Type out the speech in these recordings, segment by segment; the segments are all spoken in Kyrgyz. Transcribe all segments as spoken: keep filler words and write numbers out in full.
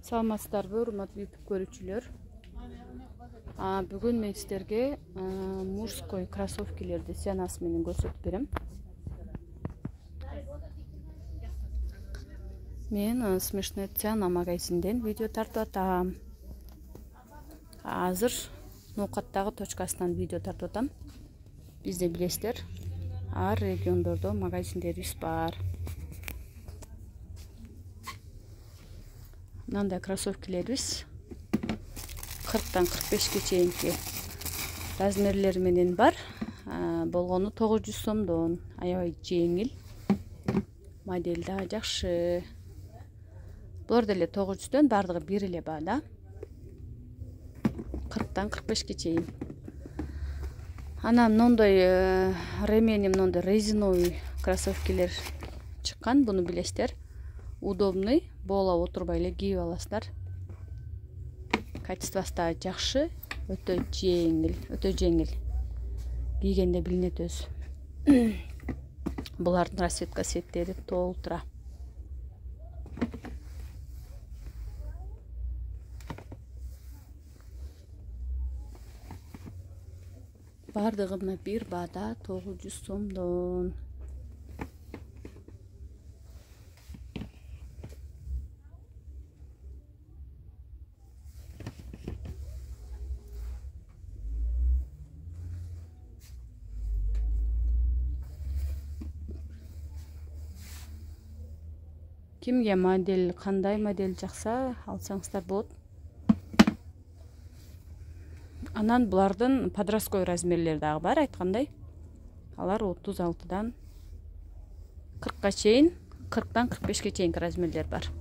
Саламатсыздарбы, урматтуу YouTube көрүүчүлөр. Бүгүн мен сиздерге мужской кроссовкилерди ценасы менен көрсөтүп берем. Мен Смешная цена магазинден видео тартып атам. Азыр Ноокаттагы точкасынан видео тартып атам. Бизде билесиздер, ар региондордо магазиндерибиз бар. Мындай кроссовкилерибиз кырктан кырк бешке чейинки размерлери менен бар. Болгону тогуз жүз сомдон. Аябай жеңил. Модель да жакшы. Булар деле тогуз жүздөн, бардыгы бир эле баада. кырктан кырк бешке чейин. Анан мондой ремени, мондой резиновый кроссовкилер чыккан, буну билесиздер. Удобный, боолоп отурбай эле кийип аласыздар. Качествосы да жакшы, өтө жеңил, өтө жеңил. Кийгенде билинет өзү. Булардын расцветка сеттери толтура. Бардыгы мына бир баада тогуз жүз сомдон. Кимге модель, кандай модель жакса алсаңыздар болот. Анан булардын подростковый размерлери дагы бар, айткандай. Алар отуз алтыдан кыркка чейин, кырктан кырк бешке чейинки размерлер бар.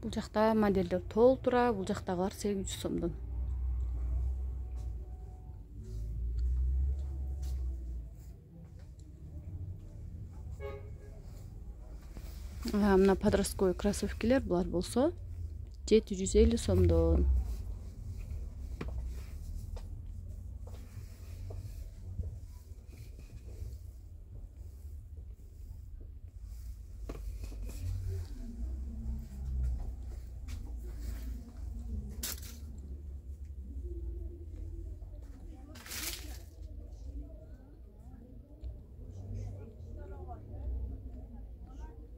Бул жакта модельдер толтура, бул жактагылар сегиз жүз сомдон. Мына подростковый кроссовкилер булар болсо жети жүз элүү сомдон.